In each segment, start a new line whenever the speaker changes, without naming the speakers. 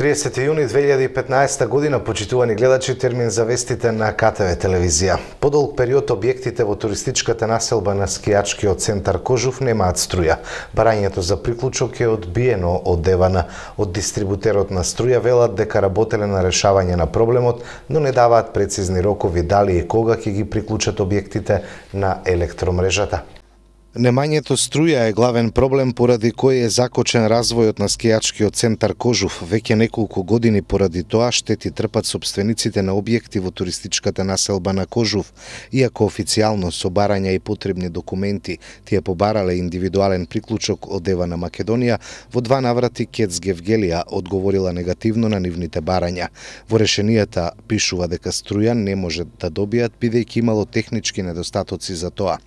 30 јуни 2015 година, почитувани гледачи, термин за вестите на КТВ телевизија. Подолг период објектите во туристичката населба на скијачкиот центар Кожув немаат струја. Барањето за приклучок е одбиено од ДВН. Од дистрибутерот на струја велат дека работеле на решавање на проблемот, но не даваат прецизни рокови дали и кога ќе ги приклучат објектите на електромрежата. Немањето струја е главен проблем поради кој е закочен развојот на скијачкиот центар Кожув. Веќе неколку години поради тоа штети трпат собствениците на објекти во туристичката населба на Кожув. Иако официјално со барања и потребни документи тие побарале индивидуален приклучок од ДВН Македонија, во два наврати КЕЦ Гевгелија одговорила негативно на нивните барања. Во решенијата пишува дека струја не може да добијат бидејќи имало технички недостатоци за тоа.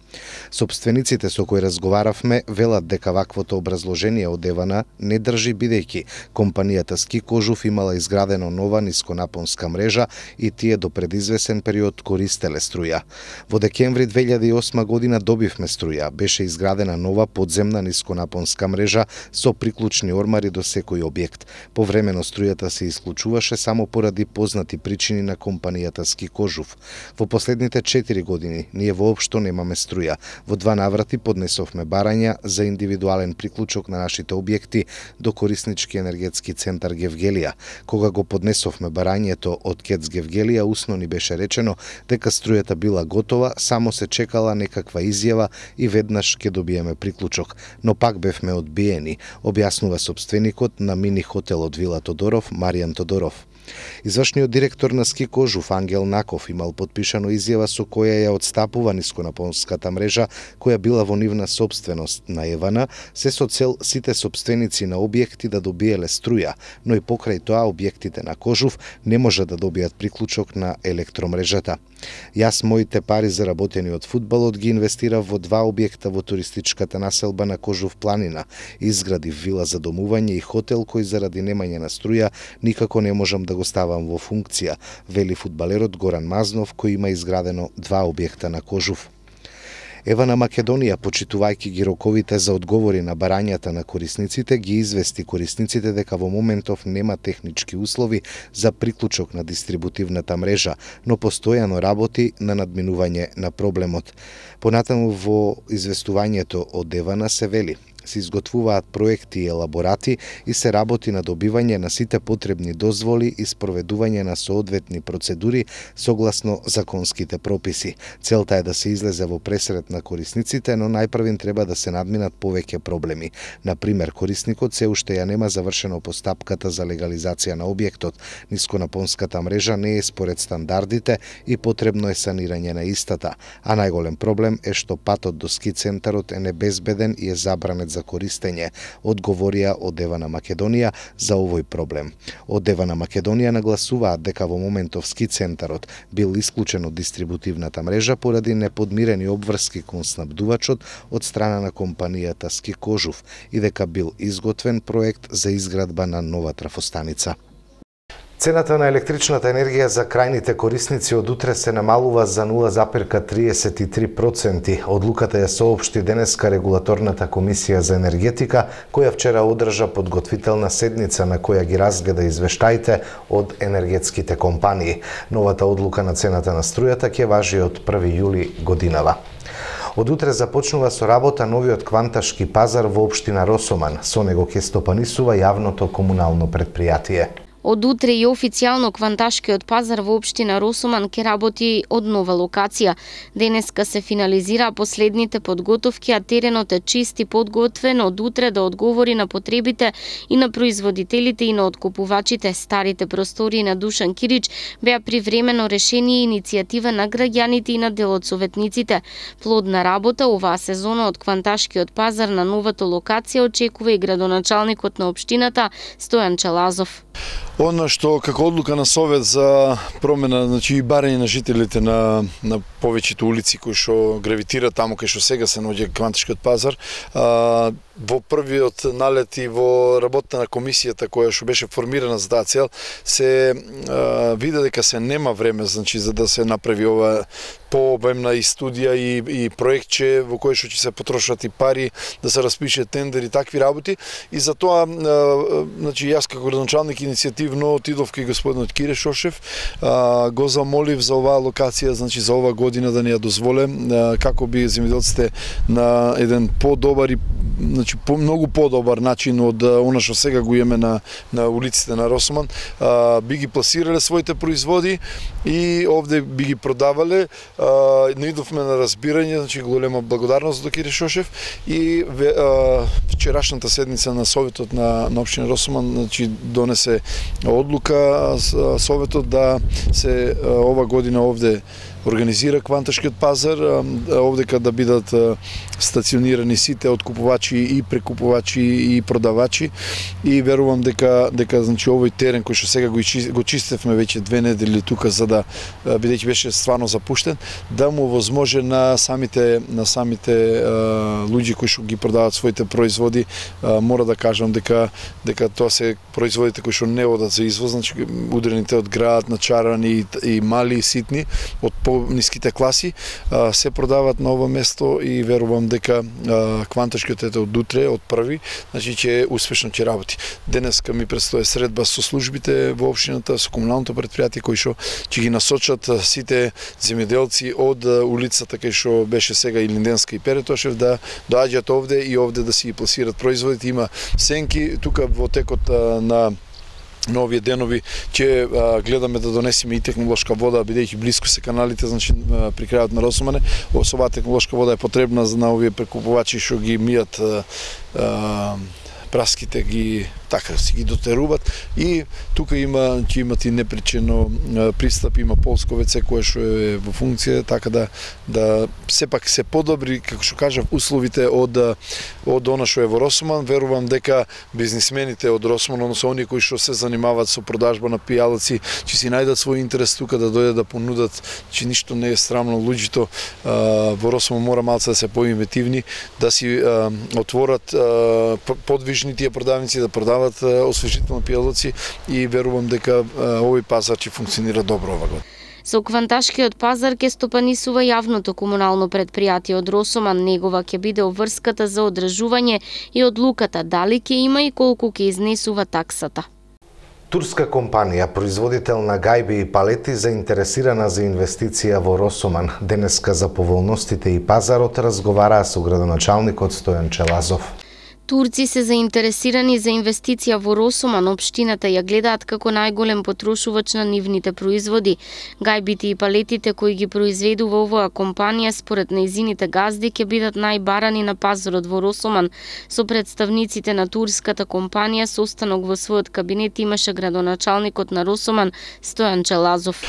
Собствениците со кои разговаравме велат дека ваквото образложение од ДВН не држи бидејќи компанијата Ски Кожув имала изградено нова нисконапонска мрежа и тие до пред извесен период користеле струја. Во декември 2008 година добивме струја, беше изградена нова подземна нисконапонска мрежа со приклучни ормари до секој објект. Повремено струјата се исклучуваше само поради познати причини на компанијата Ски Кожув. Во последните 4 години ние воопшто немаме струја. Во два наврати поднесовме барања за индивидуален приклучок на нашите објекти до кориснички енергетски центар Гевгелија. Кога го поднесовме барањето од КЕЦ Гевгелија, усно ни беше речено дека струјата била готова, само се чекала некаква изјава и веднаш ќе добиеме приклучок. Но пак бевме одбиени, објаснува собственикот на мини хотелот Вила Тодоров, Маријан Тодоров. Извршниот директор на Ски Кожув, Ангел Наков, имал подпишано изјава со која ја одстапува нисконапонската мрежа која била во нивна собственост на ЕВН, се со цел сите собственици на објекти да добиеле струја, но и покрај тоа објектите на Кожув не може да добијат приклучок на електромрежата. Јас моите пари заработени од фудбалот ги инвестирав во два објекта во туристичката населба на Кожув планина. Изградив вила за домување и хотел кој заради немање на струја никако не можам да го ставам во функција, вели фудбалерот Горан Мазнов кој има изградено два објекта на Кожув. ЕВН Македонија, почитувајќи ги роковите за одговори на барањата на корисниците, ги извести корисниците дека во моментов нема технички услови за приклучок на дистрибутивната мрежа, но постојано работи на надминување на проблемот. Понатаму во известувањето од ЕВН се вели: се изготвуваат проекти и елаборати и се работи на добивање на сите потребни дозволи и спроведување на соодветни процедури согласно законските прописи. Целта е да се излезе во пресред на корисниците, но најпрвин треба да се надминат повеќе проблеми. Например, корисникот се уште ја нема завршено постапката за легализација на објектот, нисконапонската мрежа не е според стандардите и потребно е санирање на истата, а најголем проблем е што патот до ски центарот е небезбеден и е забранет за користење, одговорија од ЕВН Македонија за овој проблем. Од ЕВН Македонија нагласуваат дека во моментов ски центарот бил исклучен од дистрибутивната мрежа поради неподмирени обврски кон снабдувачот од страна на компанијата Ски Кожув и дека бил изготвен проект за изградба на нова трафостаница. Цената на електричната енергија за крајните корисници од утре се намалува за 0,33%. Одлуката ја соопшти денеска Регулаторната комисија за енергетика, која вчера одржа подготвителна седница на која ги разгледа извештаите од енергетските компании. Новата одлука на цената на струјата ќе важи од 1 јули годинава. Од утре започнува со работа новиот кванташки пазар во општина Росоман. Со него ќе стопанисува јавното комунално претпријатие.
Од утре и официјално кванташкиот пазар во општина Росоман ќе работи од нова локација. Денеска се финализира последните подготовки, а теренот е чист и подготвен од утре да одговори на потребите и на производителите и на откупувачите. Старите простори на Душан Кирич беа привремено решение и иницијатива на граѓаните и на дел од советниците. Плодна работа оваа сезона од кванташкиот пазар на новата локација очекува и градоначалникот на општината Стојан Чалазов.
Она што како одлука на совет за промена, значи и барање на жителите на повеќето улици кои што гравитираат таму кај што сега се наоѓа кванташкиот пазар, во првиот налет и во работата на комисијата која што беше формирана за таа цел, се виде дека се нема време, значи, за да се направи ова пообемна и студија и проектче во кое што ќе се потрошат и пари, да се распише тендер и такви работи. И за тоа, значи, јас како градоначалник иницијативно отидов кај господинот Кире Шошев, го замолив за оваа локација, значи за ова година да ни ја дозволе, како би земјоделците на еден подобар и, значи, многу подобар начин од она што сега го имаме на улиците на Росоман, би ги пласирале своите производи и овде би ги продавале. Наидовме на разбирање, значи голема благодарност до Кире Шошев, и вчерашната седница на Советот на општина Росоман, значи, донесе одлука Советот да се ова година овде организира кванташкиот пазар, овдека да бидат стационирани сите откупувачи и прекупувачи и продавачи, и верувам дека значи овој терен кој што сега го чистевме веќе 2 недели тука, за да бидејќи беше стварно запуштен, да му возможи на самите луѓе кои што ги продаваат своите производи, мора да кажам дека тоа се производите кои што не одат за извоз, значи удрените од град, начарани и мали и ситни, од по-ниските класи, се продаваат на ова место и верувам дека кванташкиот од утре, од први, значи ќе успешно ќе работи. Денеска ми предстои средба со службите во општината, со комуналното предпријатие кои што ќе ги насочат сите земјоделци од улицата кај што беше сега Илинденска и Перетошев да доаѓаат овде и овде да си ги пласираат производите. Има сенки тука во текот на овие денови ќе гледаме да донесеме и технолошка вода, бидејќи блиску се каналите, значи при крајот на Росомане. Оваа технолошка вода е потребна на овие прекупувачи што ги мијат праските, ги така си ги дотеруваат, и тука ќе имат и непречено пристап, има полско WC кое што е во функција, така да сепак се подобри, како што кажав, условите од она што е во Росоман. Верувам дека бизнисмените од Росоман, односно оние кои што се занимаваат со продажба на пијалаци, ќе си најдат свој интерес тука да дојдат да понудат, че ништо не е срамно. Луѓето во Росоман мора малце да се поинвентивни, да си отворат подвижни тие продавници, да продават освежителни пијалаци, и верувам дека овој пазар ќе функционира добро ова година.
Со кванташкиот пазар ќе стопанисува јавното комунално предпријатие од Росоман. Негова ќе биде обврската за одржување и одлуката дали ќе има и колку ќе изнесува таксата.
Турска компанија, производител на гајби и палети, заинтересирана за инвестиција во Росоман. Денеска за поволностите и пазарот разговараа со градоначалникот Стојан Челазов.
Турци се заинтересирани за инвестиција во Росоман. Општината ја гледаат како најголем потрошувач на нивните производи. Гајбите и палетите кои ги произведува оваа компанија според нејзините газди ќе бидат најбарани на пазарот во Росоман. Со представниците на турската компанија состанок во својот кабинет имаше градоначалникот на Росоман Стојан Челазов.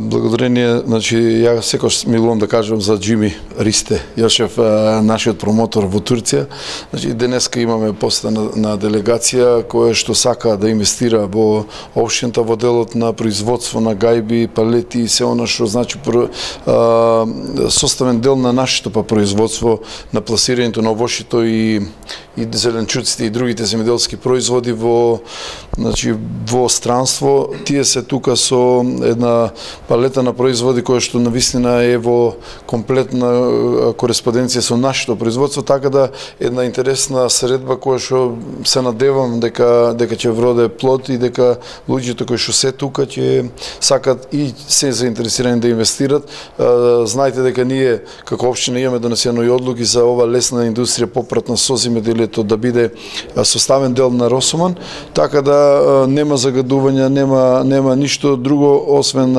Благодарение, значи ја секогаш милувам да кажам за Џими Ристе Јошев, нашиот промотор во Турција. Значи денеска имаме посета на делегација која што сака да инвестира во општината во делот на производство на гајби, палети и се она што значи составен дел на нашето производство, на пласирањето на овошјето и зеленчуците и другите земјоделски производи во странство. Тие се тука со една палета на производи која што навистина е во комплетна кореспонденција со нашето производство, така да една интересна средба која што се надевам дека ќе вроде плод и дека луѓето кои што се тука ќе сакат и се заинтересирани да инвестират. Знаете дека ние како општина имаме донесено и одлуки за ова лесна индустрија попратна со земјоделието да биде составен дел на Росоман, така да нема загадувања, нема ништо друго освен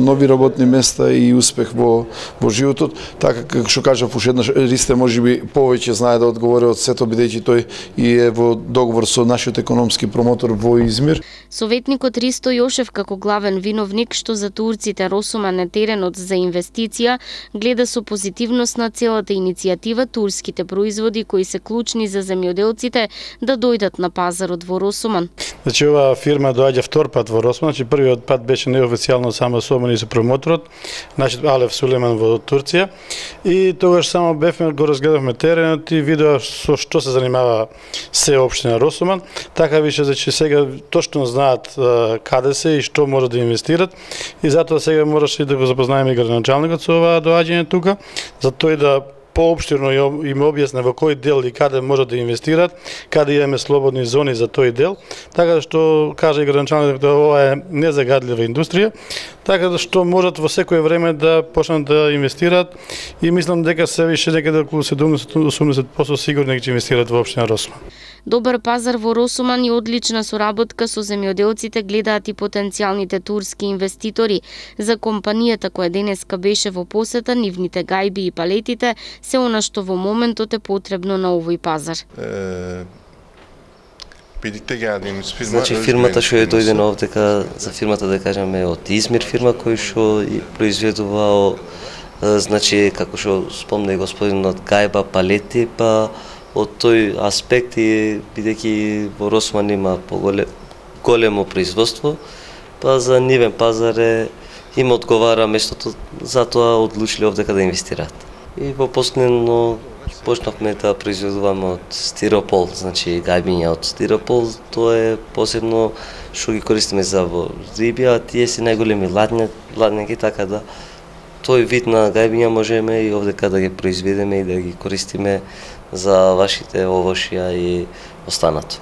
нови работни места и успех во животот. Така како што кажав, уште еднаш Ристе можеби повеќе знае да одговори од сето, бидејќи тој и е во договор со нашиот економски промотор во Измир.
Советникот Ристо Јошев како главен виновник што за турците Росоман е теренот за инвестиција, гледа со позитивност на целата иницијатива турските производи кои се клучни за земјоделците да дојдат на пазарот во Росоман.
Значи оваа фирма доаѓа втор пат во Росоман, значи првиот пат беше неофицијално само со мене и со промоторот, нашиот Алеф Сулеман во Турција, и тогаш само бевме го разгледавме теренот и видео со што се занимава се општина Росоман, така више значи сега точно знаат каде се и што може да инвестират и затоа сега мораше да го запознаеме и градоначалникот со ова доаѓање тука, за тој да поопштирно им објасне во кој дел и каде може да инвестират, каде имаме слободни зони за тој дел, така што кажа и градоначалникот да ова е незагадлива индустрија, така што можат во секое време да почнат да инвестираат и мислам дека се више некаде околу 70-80% сигурни ќе инвестираат во општина Росоман.
Добар пазар во Росоман и одлична соработка со земјоделците гледаат и потенцијалните турски инвеститори. За компанијата која денеска беше во посета, нивните гајби и палетите се она што во моментот е потребно на овој пазар.
Значи фирмата што е дојдена овдека, за фирмата да кажеме од Измир фирма кој што произведува значи како што спомна и господинот гајба, палети, па од тој аспект и бидејќи во Росоман има големо производство, па за нивен пазар им одговара местото, затоа одлучиле овдека да инвестираат. И во последно почнавме да произведуваме од стиропол, значи гајбиња од стиропол, тоа е посебно што ги користиме за риби, а тие се најголеми ладњаки, така да тој вид на гајбиња можеме и овдека да ги произведеме и да ги користиме за вашите овошја и останато.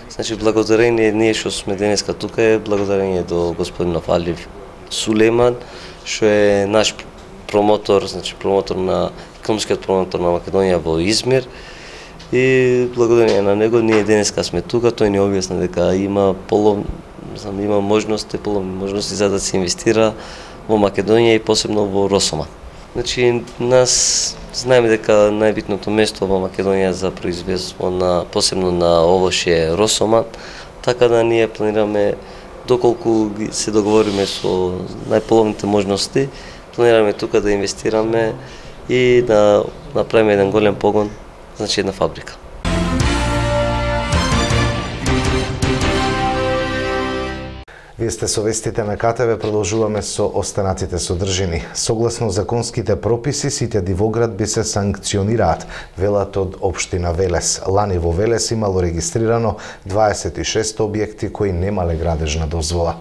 Значи, благодарение ние што сме денеска тука е благодарение до господинов Алив Сулейман, што е наш промотор, значи економскиот промотор на Македонија во Измир. И благодарение на него ние денеска сме тука, тој ни објасни дека има има можности за да се инвестира во Македонија и посебно во Росоман. Значи, нас знаеме дека најбитното место во Македонија за производство посебно на овоше е Росоман, така да ние планираме доколку се договориме со најполовните можности, планираме тука да инвестираме и да направиме еден голем погон, значи една фабрика.
Вие сте со вестите на КТВ, продолжуваме со останатите содржини. Согласно законските прописи, сите дивоградби се санкционираат, велат од општина Велес. Лани во Велес имало регистрирано 26 објекти кои немале градежна дозвола.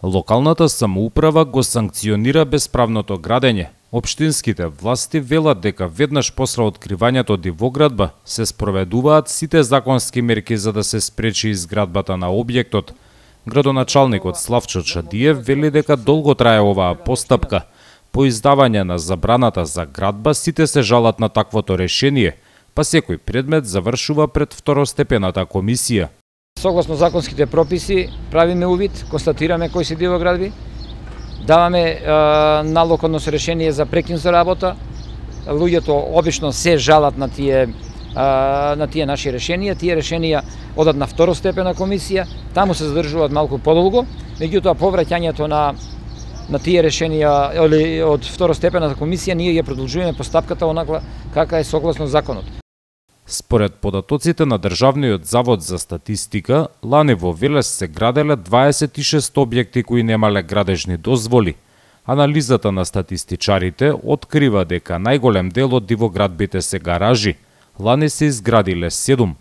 Локалната самоуправа го санкционира бесправното градење. Општинските власти велат дека веднаш после откривањето дивоградба се спроведуваат сите законски мерки за да се спречи изградбата на објектот. Градоначалникот Славчо Чадиев вели дека долго трае оваа постапка. По издавање на забраната за градба сите се жалат на таквото решение, па секој предмет завршува пред второстепената комисија.
Согласно законските прописи правиме увид, констатираме кои се дивоградби, даваме налог односно решение за прекин за работа. Луѓето обично се жалат на тие наши решенија. Тие решенија одат на второстепена комисија, таму се задржуваат малку подолго, меѓутоа повраќањето на тие решенија од второстепената комисија ние ја продолжуваме постапката онаква кака е согласно законот.
Според податоците на Државниот завод за статистика, лани во Велес се граделе 26 објекти кои немале градежни дозволи. Анализата на статистичарите открива дека најголем дел од дивоградбите се гаражи. Лани се изградиле 7.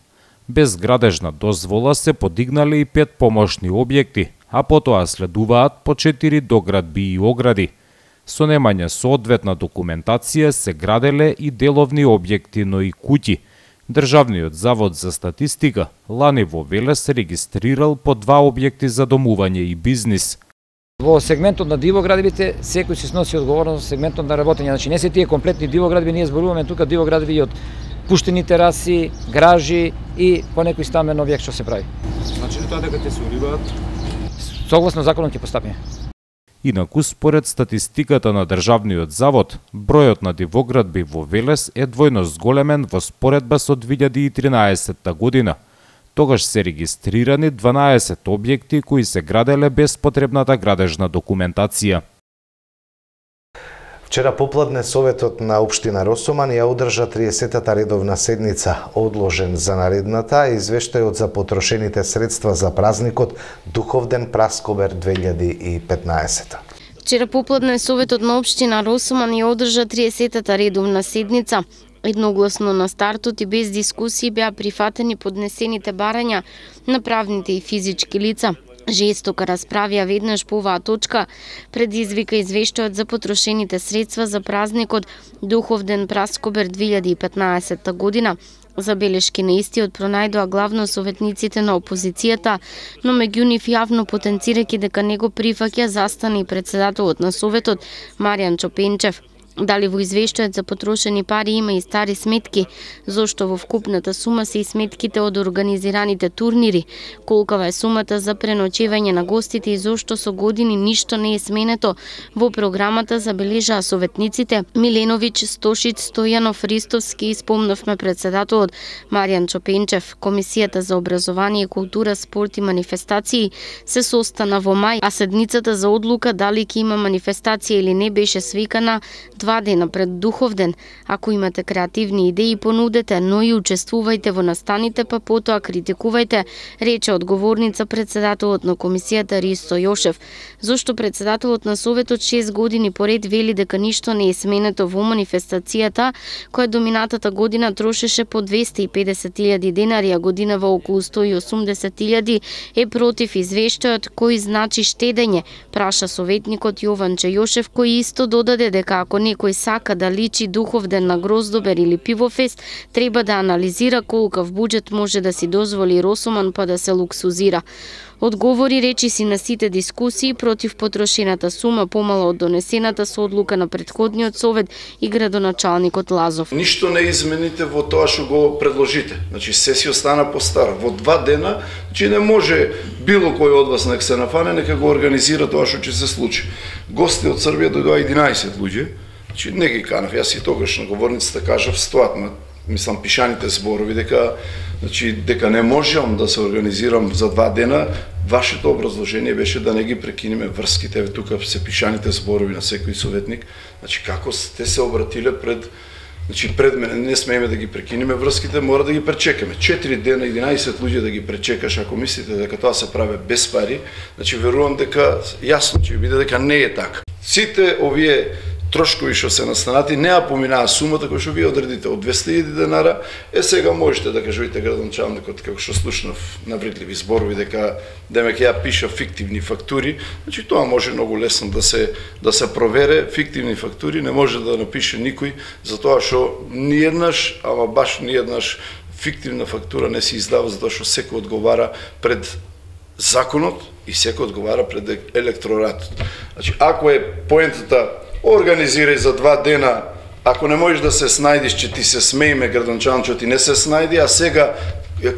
Без градежна дозвола се подигнале и 5 помошни објекти, а потоа следуваат по 4 доградби и огради. Со немање соодветна документација се граделе и деловни објекти, но и куќи. Државниот завод за статистика лани во Велес регистрирал по 2 објекти за домување и бизнис.
Во сегментот на дивоградбите секој се сноси одговорност во сегментот на работење. Значи не се тие комплетни дивоградби, ние зборуваме тука дивоградби од пуштени тераси, гражи и по некој стамен објект што се прави.
Значи тоа дека те се уриваат?
Согласно законот ќе постапиме.
Инаку, според статистиката на Државниот завод, бројот на дивоградби во Велес е двојно зголемен во споредба со 2013 година. Тогаш се регистрирани 12 објекти кои се граделе без потребната градежна документација.
Вчера попладне Советот на општина Росоман ја одржа 30-та редовна седница, одложен за наредната извештајот за потрошените средства за празникот Духовден Праскобер 2015.
Вчера попладне Советот на општина Росоман ја одржа 30-та редовна седница. Едногласно на стартот и без дискусии беа прифатени поднесените барања на правните и физички лица. Жестока расправија веднаш по оваа точка предизвика извештајот за потрошените средства за празникот Духовден Праскобер 2015 година. Забелешки на истиот пронајдоа главно советниците на опозицијата, но меѓу нив јавно потенцирајќи дека не го прифаќа, застана и председателот на Советот Маријан Чопенчев. Дали во извештајот за потрошени пари има и стари сметки, зошто во вкупната сума се и сметките од организираните турнири, колкава е сумата за преночевање на гостите и зошто со години ништо не е сменето во програмата, забележаа советниците Миленовиќ, Стошиć, Стојанов, Ристовски и спомнавме председателот Маријан Чопенчев. Комисијата за образование, култура, спорт и манифестации се состана во мај, а седницата за одлука дали ќе има манифестација или не беше свикана 2 дена пред Духовден. Ако имате креативни идеи, понудете, но и учествувајте во настаните, па потоа критикувајте, рече одговорница председателот на комисијата Ристо Јошев. Зошто председателот на Советот 6 години поред вели дека ништо не е сменето во манифестацијата, која доминатата година трошеше по 250.000 денари, а годинава околу 180.000, е против извештајот кој значи штедење, праша советникот Јованче Јошев, кој исто додаде дека ако некој сака да личи Духовден на Гроздобер или Пивофест, треба да анализира колкав буџет може да си дозволи Росоман па да се луксузира. Одговори речиси на сите дискусии против потрошената сума помала од донесената со одлука на претходниот совет и градоначалникот Лазов.
Ништо не измените во тоа што го предложите. Значи се си остана по старо. Во 2 дена, значи не може било кој од вас нека се нафане, нека го организира тоа што ќе се случи. Гости од Србија дојдоа 11 луѓе. Значи не ги канав, јас и тогаш на говорницата кажав стоат, мислам пишаните зборови дека не можам да се организирам за 2 дена. Вашето образложение беше да не ги прекинеме врските, тука се пишаните зборови на секој советник. Значи како сте се обратиле пред мене, не смееме да ги прекинеме врските, мора да ги пречекаме. 4 дена, 11 луѓе да ги пречекаш, ако мислите дека тоа се прави без пари, значи верувам дека јасно ќе биде дека не е така. Сите овие трошкови што се настанати не ја поминаа сумата која што вие одредите од 200.000 денара, сега можете да кажете градоначалникот, како што слушнав навредливи зборови дека демек ја пиша фиктивни фактури, значи тоа може многу лесно да се провере. Фиктивни фактури не може да напише никој, затоа што ниеднаш, ама баш ниеднаш фиктивна фактура не се издава, затоа што секој одговара пред законот и секој одговара пред електроратот. Значи ако е поентата организирај за 2 дена, ако не можеш да се снајдиш, че ти се смееме градоначалник, че ти не се снајди, а сега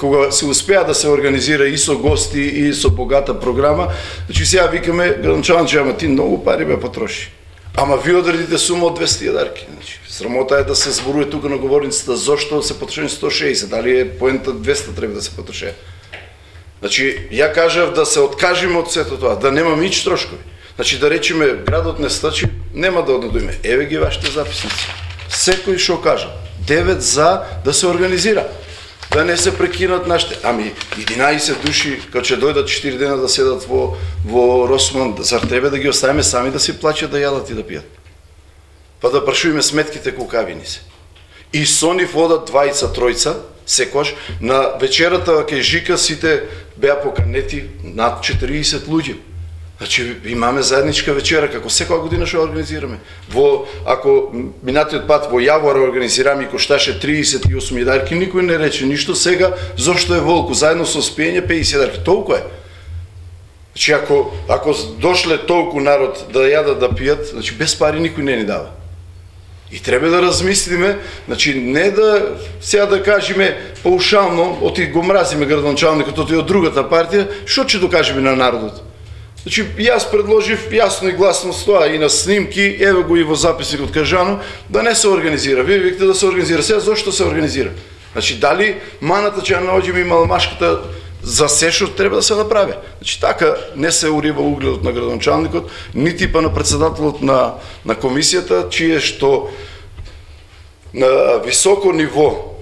кога се успеа да се организира и со гости и со богата програма, значи сега викаме градоначалник, ама ти многу пари бе потроши. Ама ви одредите сума од 200 дарки. Значи, срамота е да се зборува тука на говорницата зошто се потрошени 160, дали е поента 200 треба да се потроше. Значи, ја кажав да се откажеме од сето тоа, да нема нич трошкови. Значи да речеме градот не стачи, нема да однадоиме. Еве ги вашите записници. Секој што кажа, 9 за да се организира. Да не се прекинат нашите. Ами 11 души кога ќе дојдат 4 дена да седат во Росман, зар треба да ги оставиме сами да си плаќат, да јадат и да пијат? Па да прашуваме сметките колкави ни се. И со нив одат 2-3 секојаш на вечерата кај Жика сите беа поканети над 40 луѓе. Значи имаме заедничка вечера како секоја година што организираме. Ако минатиот пат во Јавора организираме и кошташе 38 дарки, никој не рече ништо. Сега зошто е волку заедно со спиење 50 дарки, толку е. Значи ако дошле толку народ да јадат да пијат, значи без пари никој не ни дава. И треба да размислиме, значи не да сега да кажеме паушално, оти го мразиме градоначалникот од другата партија, што ќе докажеме на народот? Значи, јас предложив јасно и гласно с тоа и на снимки, еве го и во записникот кажано, да не се организира. Вие викате да се организира. Сега зошто се организира? Значи, дали маната ќе ја наоѓеме и малмашката за се што треба да се направи? Значи, така не се урива угледот на градоначалникот, нити па на председателот на комисијата, чие што на високо ниво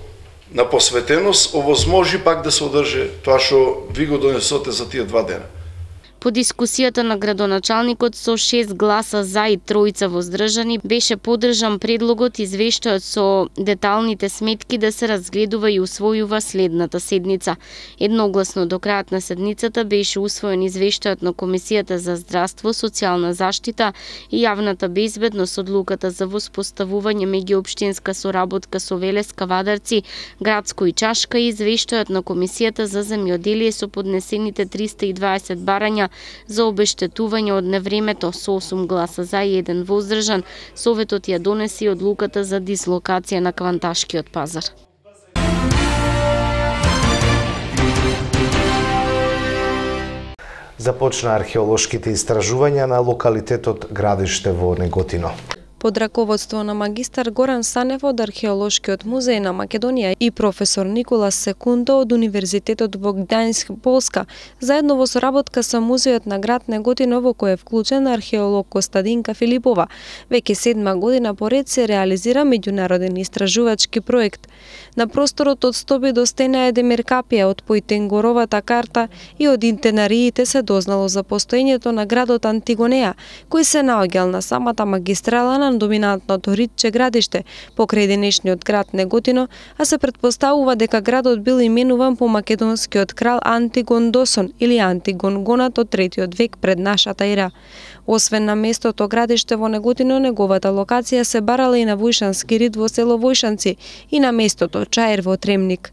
на посветеност овозможи пак да се одржи тоа што ви го донесоте за тие 2 дена.
По дискусијата на градоначалникот со 6 гласа за и 3 воздржани беше поддржан предлогот извештајот со деталните сметки да се разгледува и усвојува следната седница. Едногласно до крајот на седницата беше усвоен извештајот на Комисијата за здравство, социјална заштита и јавната безбедност, одлуката за воспоставување меѓуопштинска соработка со Велеска, Вадарци, Градско и Чашка и извештајот на Комисијата за земјоделие со поднесените 320 барања за обештетување од невремето со 8 гласа за и 1 воздржан. Советот ја донеси одлуката за дислокација на Кванташкиот пазар.
Започна археолошките истражувања на локалитетот Градиште во Неготино.
Под раководство на магистар Горан Санев од Археолошкиот музеј на Македонија и професор Никола Секунто од Универзитетот во Гдајнск, Полска, заедно во соработка со музеот на град Неготино во кој е вклучен археолог Костадинка Филипова, веќе 7 година поред се реализира меѓународен истражувачки проект. На просторот од Стоби до Стена е Демеркапија, од Појтенгоровата карта и од интенариите се дознало за постоењето на градот Антигонеја, кој се наоѓал на самата магистрала на доминантното ридче Градиште, покрај денешниот град Неготино, а се претпоставува дека градот бил именуван по македонскиот крал Антигон Досон или Антигон Гонат од 3 век пред нашата ера. Освен на местото Градиште во Неготино, неговата локација се барала и на Војшански рид во село Војшанци и на местото Чаер во Тремник.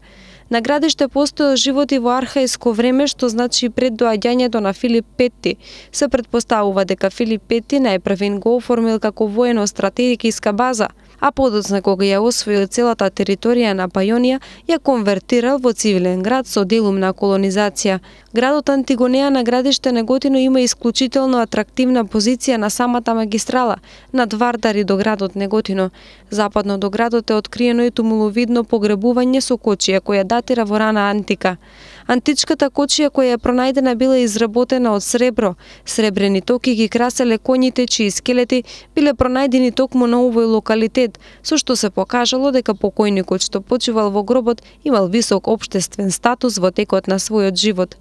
На Градиште постоел живот и во архаиско време, што значи пред доаѓањето на Филип Петти. Се претпоставува дека Филип Петти најпрвен го оформил како воено-стратегиска база, а подоцна кога ја освоил целата територија на Пајонија, ја конвертирал во цивилен град со делум на колонизација. Градот Антигонеја на Градиште Неготино има исклучително атрактивна позиција на самата магистрала, над Вардари до градот Неготино. Западно до градот е откриено и тумуловидно погребување со кочија која датира во рана антика. Античката кочија која е пронајдена била изработена од сребро. Сребрени токи ги краселе коњите чии скелети биле пронајдени токму на овој локалитет, со што се покажало дека покојникот што почивал во гробот имал висок општествен статус во текот на својот живот.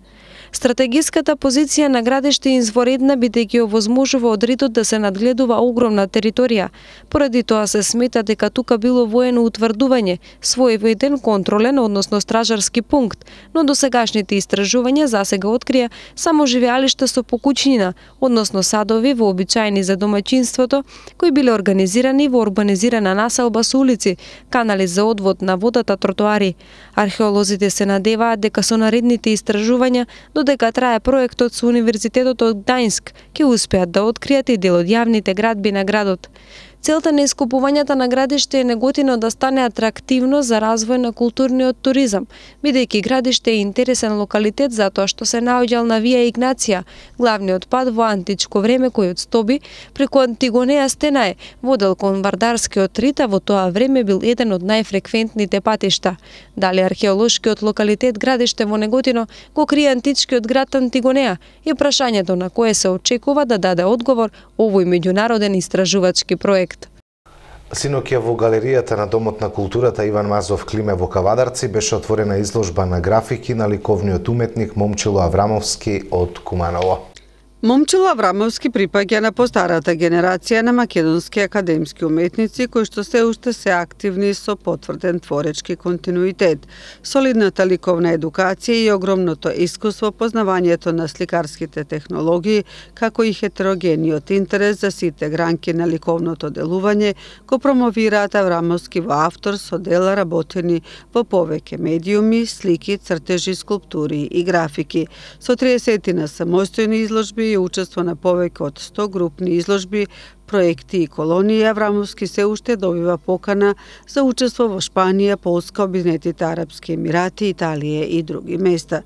Стратегиската позиција на Градиште е изворедна бидејќи овозможува од ридот да се надгледува огромна територија. Поради тоа се смета дека тука било воено утврдување, своевиден контролен, односно стражарски пункт, но досегашните истражувања засега открија само живеалишта со покуќнина, односно садови вообичаени за домаќинството, кои биле организирани во урбанизирана населба со улици, канали за одвод на водата, тротоари. Археолозите се надеваат дека со наредните истражувања додека трае проектот со Универзитетот од Гдајнск, ќе успеат да откријат и дел од јавните градби на градот. Целта на искупувањата на Градиште е Неготино да стане атрактивно за развој на културниот туризам, бидејќи Градиште е интересен локалитет затоа што се наоѓал на Вија Игнација, главниот пат во античко време кој од Стоби преку Антигонеја Стенаe водел кон Вардарскиот рид, а во тоа време бил еден од најфреквентните патишта. Дали археолошкиот локалитет Градиште во Неготино го крие античкиот град Антигонеја е прашањето на кое се очекува да даде одговор овој меѓународен истражувачки проект.
Синоќа во галеријата на Домот на културата Иван Мазов Климе во Кавадарци беше отворена изложба на графики на ликовниот уметник Момчило Аврамовски од Куманово.
Момчило Аврамовски припаѓа на постарата генерација на македонски академски уметници кои што се уште се активни со потврден творечки континуитет, солидната ликовна едукација и огромното искуство, познавањето на сликарските технологии, како и хетерогениот интерес за сите гранки на ликовното делување, го промовираат Аврамовски во автор со дела работени во повеќе медиуми, слики, цртежи, скулптури и графики. Со 30 на самостојни изложби и учество на повеќе од 100 групни изложби, проекти и колонии, Аврамовски се уште добива покана за учество во Шпанија, Полска, Обединетите арапски емирати, Италија и други места.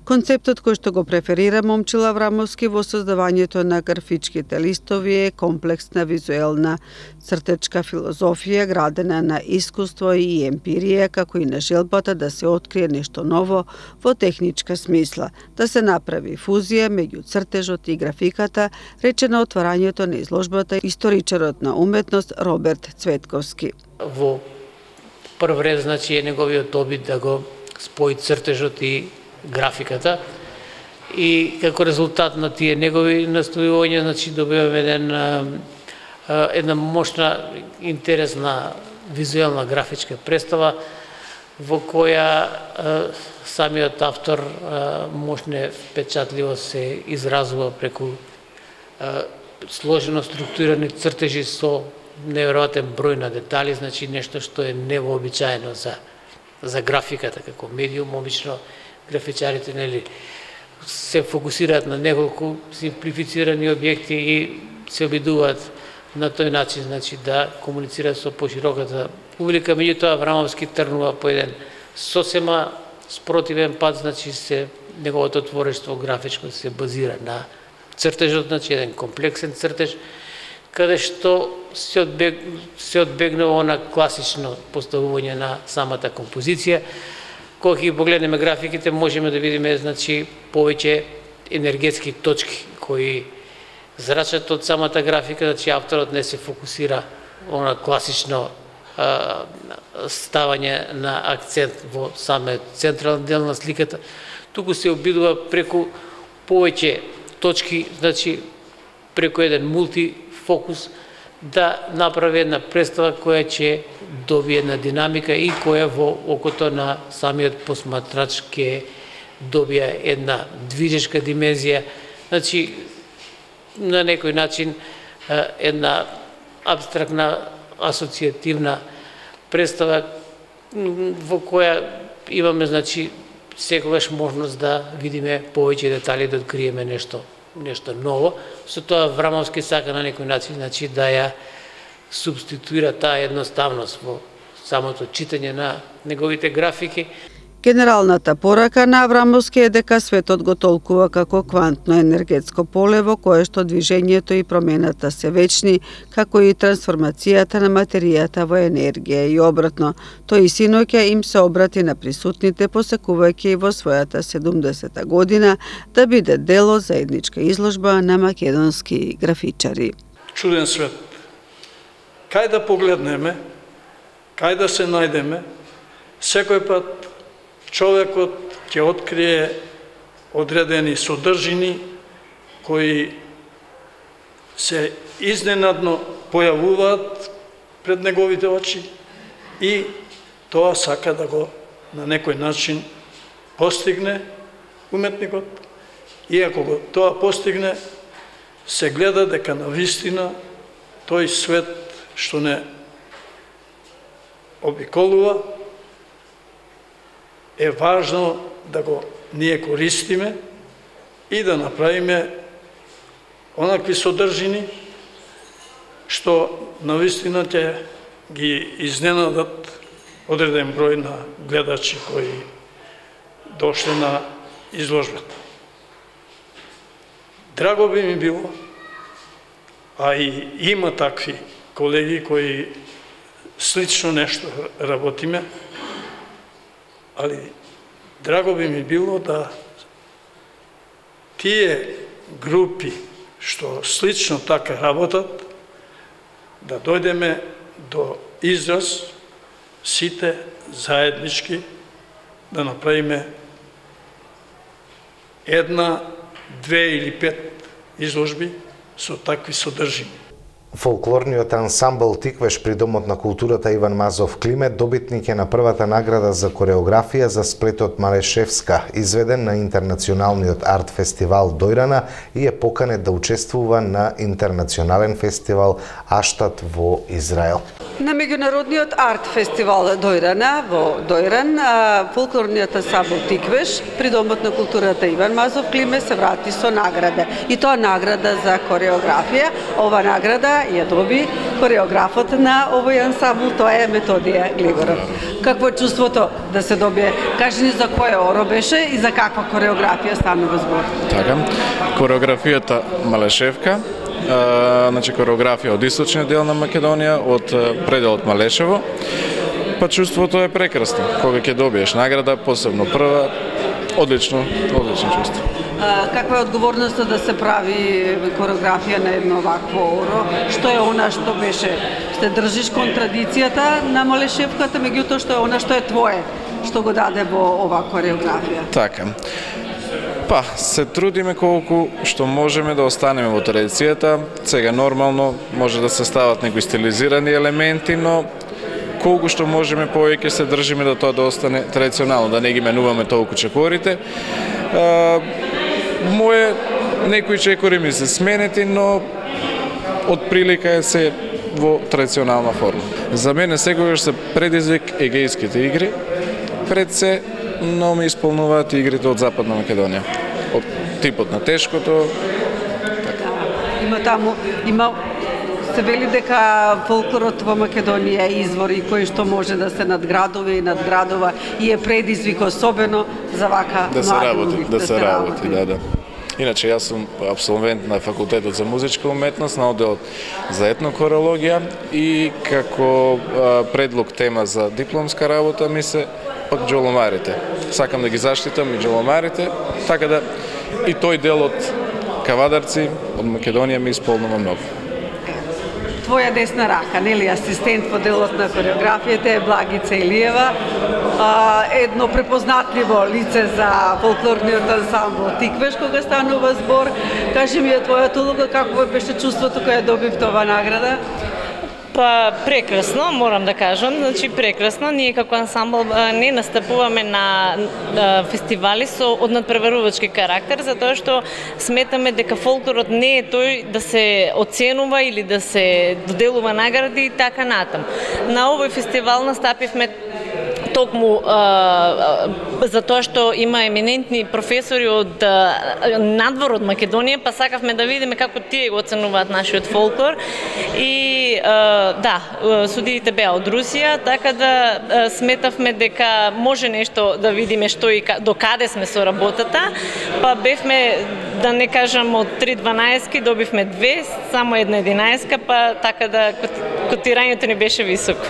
Концептот кој што го преферира Момчило Аврамовски во создавањето на графичките листови е комплексна визуелна цртечка филозофија градена на искуство и емпирија, како и на желбата да се открие нешто ново во техничка смисла, да се направи фузија меѓу цртежот и графиката, рече на отварањето на изложбата историчарот на уметност Роберт Цветковски.
Во прв ред, значи, е неговиот обид да го спои цртежот и графиката и како резултат на тие негови настојувања, значи добиваме една мощна, интересна визуелна графичка представа во која самиот автор мощне впечатливо се изразува преку сложено структурирани цртежи со неверојатен број на детали, значи нешто што е невообичаено за графиката како медиум. Обично графичарите се фокусираат на неколку симплифицирани објекти и се обидуваат на тој начин, значи да комуницираат со пошироката публика. Меѓутоа Аврамовски тргнува по еден сосема спротивен пат, значи неговото творештво графичко се базира на цртежот, значи еден комплексен цртеж, каде што се одбегнува на класично поставување на самата композиција. Кога ги погледнеме графиките, можеме да видиме, значи, повеќе енергетски точки кои зрачат од самата графика, значи авторот не се фокусира на класично ставање на акцент во самиот централен дел на сликата, туку се обидува преку повеќе точки, значи преку еден мултифокус да направи една представа која ќе добие една динамика и која во окото на самиот посматрач ќе добие една движешка димензија, значи на некој начин една абстрактна асоцијативна представа во која имаме, значи, секогаш можност да видиме повеќе детали, да откриеме нешто ново. Со тоа Аврамовски сака на некој начин, значи, да ја субституира таа едноставност во самото читање на неговите графики.
Генералната порака на Аврамовски е дека светот го толкува како квантно енергетско поле во кое што движењето и промената се вечни, како и трансформацијата на материјата во енергија и обратно. Тој и синоќа им се обрати на присутните, посекувајќи во својата 70-та година да биде дел од заедничка изложба на македонски графичари.
Чуден свет. Кај да погледнеме, кај да се најдеме, секој пат човекот ќе открие одредени содржини кои се изненадно појавуваат пред неговите очи и тоа сака да го на некој начин постигне уметникот. И ако го тоа постигне, се гледа дека навистина тој свет што не обиколува е важно да го ние користиме и да направиме онакви содржини што навистина ќе ги изненадат одреден број на гледачи кои дошле на изложбата. Драго би ми било, а и има такви колеги кои слично нешто работиме, али драго би ми било да тие групи што слично така работат, да дојдеме до израз сите заеднички да направиме една, две или пет изложби со такви содржини.
Фолклорниот ансамбл Тиквеш при Домот на културата Иван Мазов Климет добитник е на првата награда за кореографија за сплетот Малешевска, изведен на интернационалниот арт фестивал Дојрана и е поканет да учествува на интернационален фестивал Аштат во Израел.
На меѓународниот арт фестивал Дојрана во Дојран, фолклорниот ансамбл Тиквеш при Домот на културата Иван Мазов Климет се врати со награда. И тоа награда за кореографија. Ова награда ја доби кореографот на овој ансамбл, тоа е Методија Глигоров. Какво е чувството да се добие? Кажи ни за кој оро беше и за каква кореографија станува збор?
Така, кореографијата Малешевка, значи кореографија од источниот дел на Македонија, од пределот Малешево. Па чувството е прекрасно. Кога ќе добиеш награда, посебно прва, одлично чувство.
Каква е одговорноста да се прави кореографија на едно вакво оро? Што е она што беше? Се држиш кон традицијата на Малешевката, меѓутоа што е она што е твое, што го даде во оваа кореографија?
Така. Па, се трудиме колку што можеме да останеме во традицијата. Сега нормално може да се стават некои стилизирани елементи, но колку што можеме повеќе се држиме да тоа да остане традиционално, да не ги менуваме толку чекорите. Моje некои чекори ми се сменети, но од прилика е се во традиционална форма. За мене секогаш се предизвик егејските игри, пред се, но ми исполнуваат игрите од Западна Македонија. Од типот на тешкото.
Така. Има се вели дека фолклорот во Македонија е извор и кој што може да се надградува и е предизвик особено за вака млади
да се работи, да. Иначе јас сум абсолвент на факултетот за музичка уметност на одделот за етнокорологија и како предлог тема за дипломска работа ми се пак џоломарите. Сакам да ги заштитам и џоломарите, така да и тој дел од кавадарци од Македонија ми исполнува многу.
Твоја десна рака, нели, асистент во делот на хореографијата е Благица Илиева, едно препознатливо лице за фолклорниот ансамбл Тиквеш кога станува збор. Кажи ми твојата улога, какво беше чувството кога добив тоа награда?
Па прекрасно, морам да кажам, значи прекрасно. Ние како ансамбл не настапуваме на фестивали со однадпреварувачки карактер, затоа што сметаме дека фолклорот не е тој да се оценува или да се доделува награди и така натам. На овој фестивал настапивме токму затоа што има еминентни професори од надвор од Македонија, па сакавме да видиме како тие го оценуваат нашиот фолклор и да, судиите беа од Русија, така да сметавме дека може нешто да видиме што и до каде сме со работата, па бевме, да не кажам, од 3 12-ки добивме 2, само една 11-ка, па така да котирањето ни беше високо.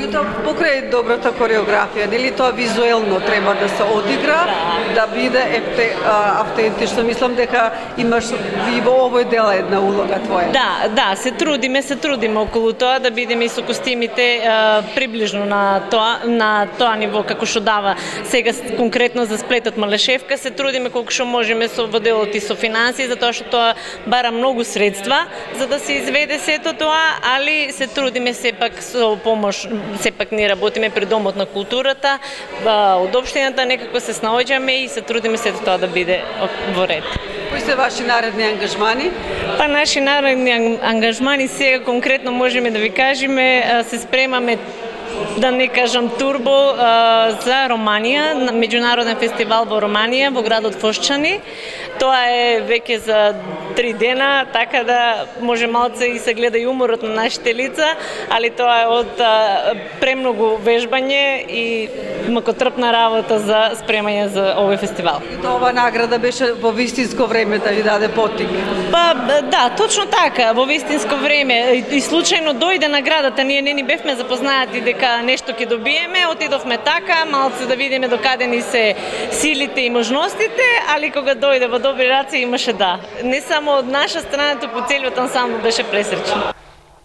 И тоа покрај добрата хореографија, нели тоа визуелно треба да се одигра, да биде автентично. Мислам дека имаш и во овој дел една улога твоја.
Да, се трудиме околу тоа да бидеме и со костимите приближно на тоа ниво како што дава сега конкретно за сплетот Малешевка. Се трудиме колку што можеме во делот и со финансии, затоа што тоа бара многу средства за да се изведе сето тоа, али се трудиме сепак со помош. Сепак ние работиме при Домот на културата, од општината некако се снаоѓаме и се трудиме сето тоа да биде во ред.
Кои се ваши наредни ангажмани?
Па наши наредни ангажмани сега конкретно можеме да ви кажеме, се спремаме да не кажам турбо за Романија, меѓународен фестивал во Романија, во градот Фошчани. Тоа е веќе за 3 дена, така да може малце и се гледа и уморот на нашите лица, али тоа е од премногу вежбање и макотрпна работа за спремање за овој фестивал.
И тоа награда беше во вистинско време да ви даде поттик?
Па да, точно така, во вистинско време. И случајно дојде наградата, ние не ни бевме запознаати дека нешто ќе добиеме, отидовме така, малце да видиме докаде ни се силите и можностите, али кога дојде во добри раце имаше да. Не само од наша страна, туку целиот ансамбл беше пресречен.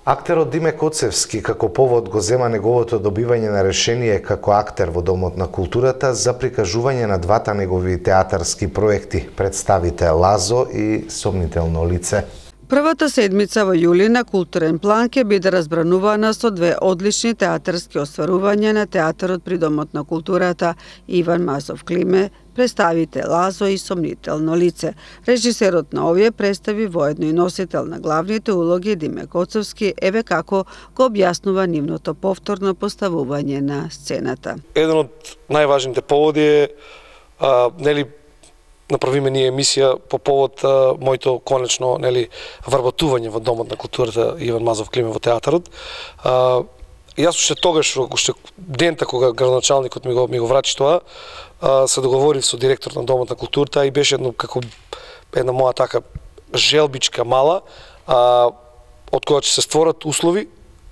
Актерот Диме Коцевски како повод го зема неговото добивање на решение како актер во Домот на културата за прикажување на двата негови театарски проекти, представите Лазо и Сомнително лице.
Првата седмица во јули на културен план ќе биде разбранувана со 2 одлични театарски остварувања на театарот при Домот на културата Иван Мазов Климе, представите Лазо и Сомнително лице. Режисерот на овие представи, воедно и носител на главните улоги Диме Коцевски, еве како го објаснува нивното повторно поставување на сцената.
Еден од најважните поводи е направиме ние емисија по повод моето конечно вработување во Домот на културата Иван Мазов Климе во театарот. Јас уште тогаш, уште дента кога градоначалникот ми го врачи тоа, се договорив со директор на Домот на културата и беше една моја така желбичка мала, од која ќе се створат услови,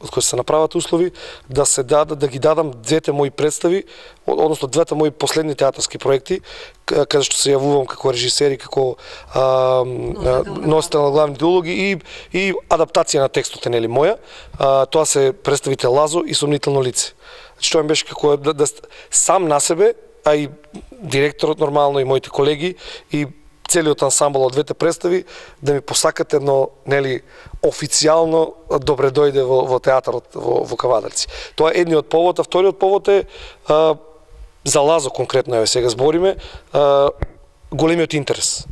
од кои се направат услови, да ги дадам двете мои представи, односно двете мои последни театарски проекти, каде што се јавувам како режисер и како носител на главните улоги и адаптација на текстот моја. Тоа се представите Лазо и Сомнително лице. Што ми беше како да сам на себе а и директорот нормално и моите колеги и целиот ансамбл од двете представи да ми посакат едно, нели, официјално добре дојде во театарот во Кавадарци. Тоа е едниот повод, а вториот повод е за Лазо конкретно, еве сега збориме, големиот интерес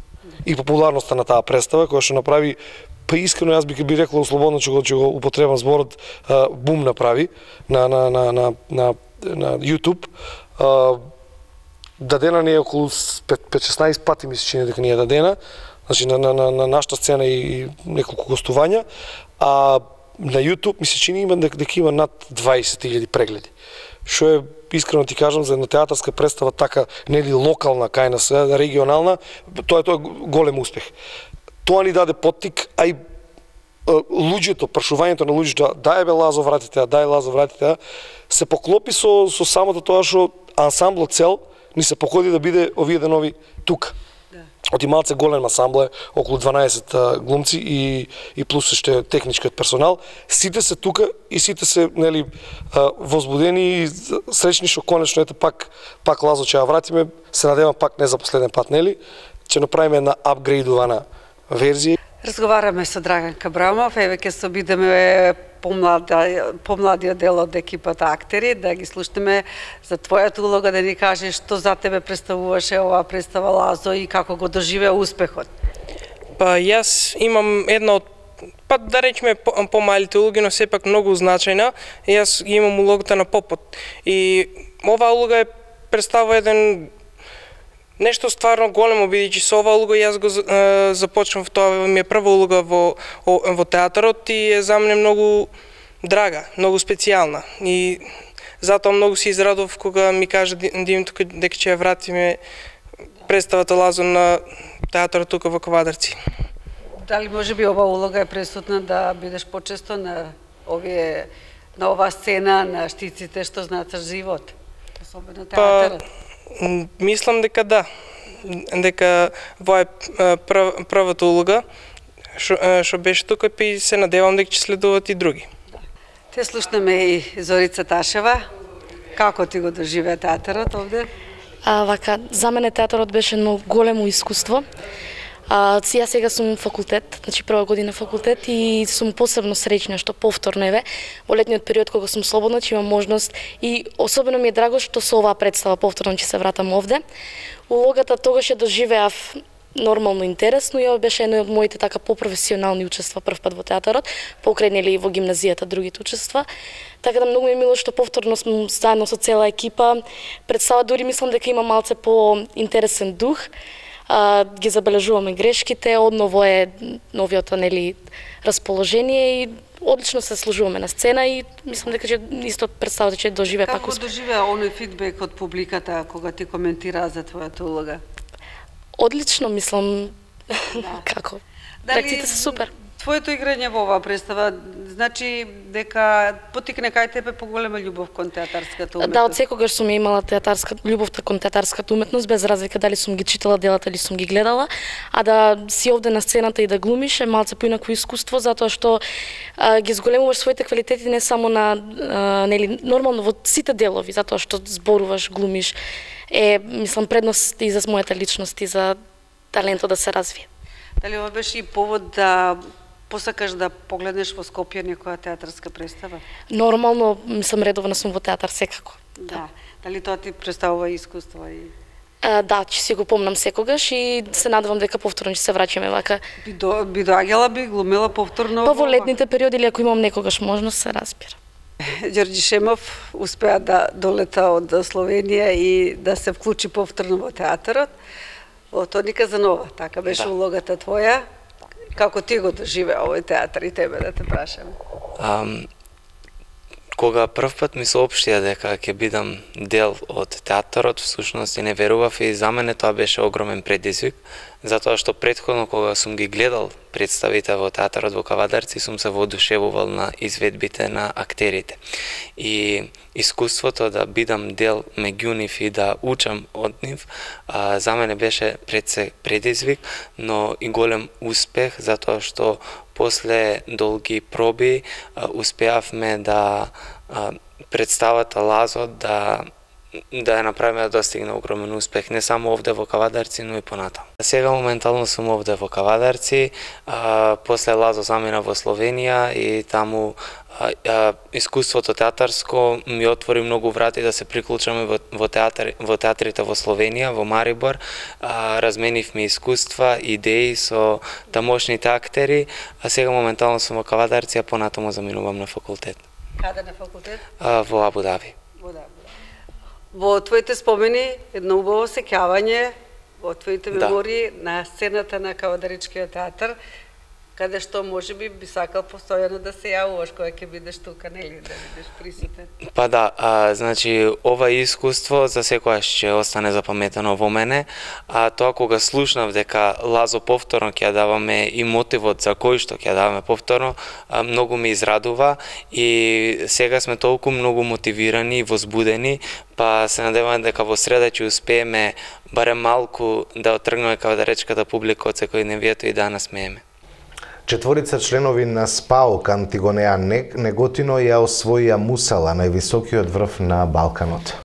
и популярноста на таа представа која што направи, па искрено јас би рекол слободно че го употребам зборот, бум направи на YouTube. Дадена не е околу 5-16 пати, ми се чини дека не е дадена, значи на нашата сцена и неколку гостувања, а на YouTube ми се чини има дека има над 20.000 прегледи. Што е, искрено ти кажам, за една театарска представа така, нели локална, кај нас, регионална, тоа е голем успех. Тоа ни даде поттик, а и луѓето, прашувањето на луѓето, дај бе Лазо вратите, дај Лазо вратите, се поклопи со самото тоа што ансамблот цел ни се покоди да биде овие денови тука. Оти малце голем ансамбл е, околу 12 глумци и плюс уште техничкиот персонал. Сите се тука и сите се, нели, возбудени и среќни што конечно ете пак Лазо ќе ја вратиме, се надевам пак не за последен пат, нели, ќе направиме една апгрейдувана верзија.
Разговараме со Драган Кабрамов, еве ќе се обидеме помладиот дел од екипата актери, да ги слушнеме за твојата улога, да ни кажеш што за тебе представуваше оваа представа Лазо и како го доживеа успехот.
Па јас имам една од, па да речеме помалите улоги, но сепак многу значајна. Јас имам улогата на попот. И оваа улога представува еден нешто стварно големо, бидејќи со оваа улога јас го започнав, тоа ми е прва улога во театарот и е за мене многу драга, многу специјална. И затоа многу се израдов кога ми кажа Димитро дека ќе ја вратиме представата Лазо на театарот тука во Кавадарци.
Дали може би оваа улога е пресудна да бидеш почесто на оваа сцена, на штиците што значат живот, особено театарот?
Мислам дека да, дека во е првата улога што беше тука и се надевам дека ќе следуваат и други.
Те слушнеме и Зорица Ташева. Како ти го доживеа театарот овде?
Вака, за мене театарот беше едно големо искуство. Јас сега сум факултет, значи прва година факултет и сум посебно среќна што повторно еве во летниот период кога сум слободна, че имам можност и особено ми е драго што со оваа представа повторно ќе се вратам овде. Улогата тогаш ја доживеав нормално интересно и ова беше едно од моите така попрофесионални учества прв пат во театарот, покрај нели во гимназијата другите учества. Така да многу ми е мило што повторно сум заедно со цела екипа. Представа дури мислам дека има малце по-интересен дух. Ги забележуваме грешките, одново е новиото нели расположение и одлично се служуваме на сцена и мислам дека ќе исто представата ќе доживее пак успех.
Како доживеа оној фидбек од публиката кога ти коментираа за твојата улога?
Одлично, мислам. Како? Реакциите се супер.
Твоето играње во оваа представа значи дека потикне кај тебе поголема љубов кон театарската уметност?
Да, од секогаш сум имала љубовта кон театарската уметност, без разлика дали сум ги читала делата или сум ги гледала, а да си овде на сцената и да глумиш е малце поинакво искуство, затоа што ги зголемуваш своите квалитети не само на нели нормално во сите делови, затоа што зборуваш, глумиш, мислам предност и за мојата личност и за талентот да се развие.
Дали ова беше и повод да посакаш да погледнеш во Скопје некоја театарска представа?
Нормално, мислам редовно сум во театар секако.
Да. Дали тоа ти представува искуство и
да, ќе си го помнам секогаш и се надевам дека повторно ќе се враќаме вака.
Би доаѓала, би глумела повторно?
Па во летните периоди или ако имам некогаш можност, се разбира.
Ѓорѓи Шемов успеа да долета од Словенија и да се вклучи повторно во театарот. Во Тони Казанова, така беше улогата твоја. Како ти го доживеа овој театар и тебе да те прашаме?
Кога прв пат ми соопштија дека ќе бидам дел од театарот, всушност и не верував и за мене тоа беше огромен предизвик, затоа што претходно кога сум ги гледал представите во театарот во Кавадарци, сум се воодушевувал на изведбите на актерите. И искуството да бидам дел меѓу нив и да учам од нив, за мене беше пред се предизвик, но и голем успех, затоа што после долги проби успеавме да представата Лазо да да ја направиме да достигне огромен успех, не само овде во Кавадарци, но и понатаму. Сега моментално сум овде во Кавадарци, после Лазо замина во Словенија и таму искуството театарско ми отвори многу врати да се приклучаме во театрите во Словенија, во Марибор. Разменивме искуства, идеи со тамошните актери, а сега моментално сум во Кавадарци, а понатаму заминувам на факултет.
Каде на факултет?
Во Абу Даби.
Во твоите спомени, едно убаво сеќавање во твоите мемории на сцената на Кавадаричкиот театар, каде што можеби би сакал постојано да се јавуваш кога ќе бидеш тука, нели, да бидеш присутен.
Па да, значи ова искуство за секојаш ќе остане запаметено во мене, а тоа кога слушнав дека Лазо повторно ќе ја даваме и мотивот за кој што ќе ја даваме повторно, многу ме израдува и сега сме толку многу мотивирани и возбудени, па се надеваме дека во среда ќе успееме барем малку да отргнеме кавадаречката публика од секојдневието и да насмееме.
Четворица членови на СПАОК Антигонеа Неготино ја освоија Мусала, највисокиот врв на Балканот.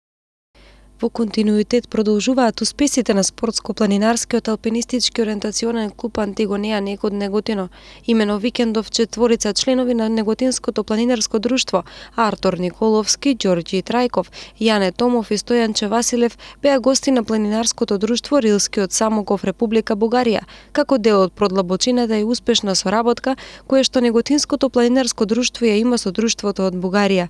Во континуитет продолжуваат успесите на спортско-планинарскиот алпинистички ориентационен клуб Антигонеа Неготино. Имено викендов четворица членови на Неготинското планинарско друштво Артур Николовски, Ѓорѓи Трајков, Јане Томов и Стојанче Василев беа гости на планинарското друштво Рилскиот Самоков, Република Бугарија, како дел од продлабочината и успешна соработка која што Неготинското планинарско друштво ја има со друштвото од Бугарија.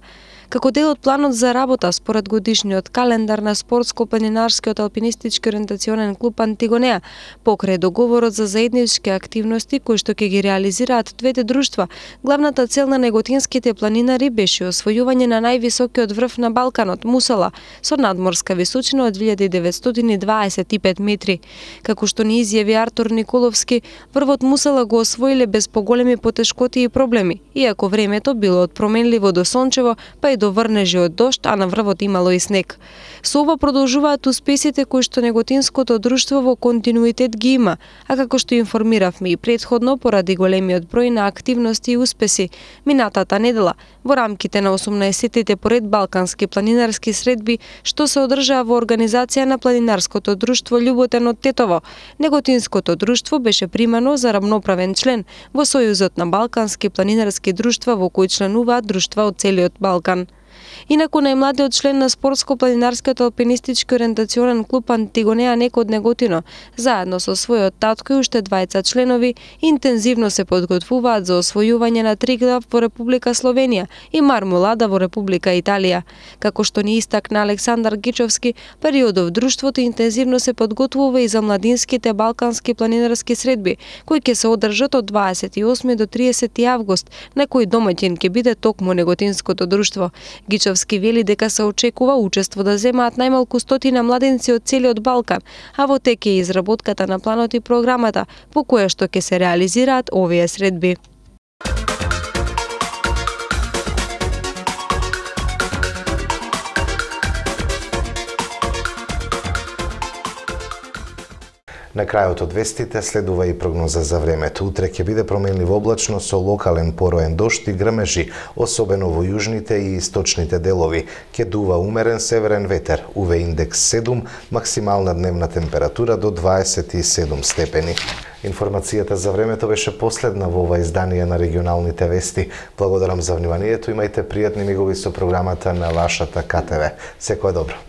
Како дел од планот за работа според годишниот календар на спортско-планинарскиот алпинистички ориентационен клуб Антигонеа, покрај договорот за заеднички активности кои што ќе ги реализираат двете друштва, главната цел на неготинските планинари беше освојување на највисокиот врв на Балканот, Мусала, со надморска височина од 1925 метри. Како што ни изјави Артур Николовски, врвот Мусала го освоиле без поголеми потешкоти и проблеми, иако времето било од променливо до сончево, па и до врнежи од дожд, а на врвот имало и снег. Со ова продолжуваат успесите кои што Неготинското друштво во континуитет ги има, а како што информиравме и претходно поради големиот број на активности и успеси, минатата недела во рамките на 18-тите поред балкански планинарски средби што се одржаа во организација на планинарското друштво Љуботен од Тетово, Неготинското друштво беше примано за рамноправен член во Сојузот на балкански планинарски друштва во кој членуваат друштва од целиот Балкан. Инаку најмладиот член на спортско-планинарскиот алпинистички ориентационен клуб Антигонеа од Неготино, заедно со својот татко и уште двајца членови, интензивно се подготвуваат за освојување на Триглав во Република Словенија и Мармолада во Република Италија. Како што ни истакна Александар Гичовски, периодов друштвото интензивно се подготвува и за младинските балкански планинарски средби, кои ќе се одржат од 28 до 30 август, на кој домаќин ќе биде токму Неготинското друштво. Гичовски вели дека се очекува учество да земаат најмалку 100 младенци од целиот Балкан, а во тек е изработката на планот и програмата по која што ќе се реализираат овие средби.
На крајот од вестите следува и прогноза за времето. Утре ќе биде променливо облачно со локален пороен дожд и грмежи, особено во јужните и источните делови. Ќе дува умерен северен ветер, УВ индекс 7, максимална дневна температура до 27 степени. Информацијата за времето беше последна во ова издание на регионалните вести. Благодарам за вниманието, имајте пријатни мигови со програмата на вашата КТВ. Секое добро.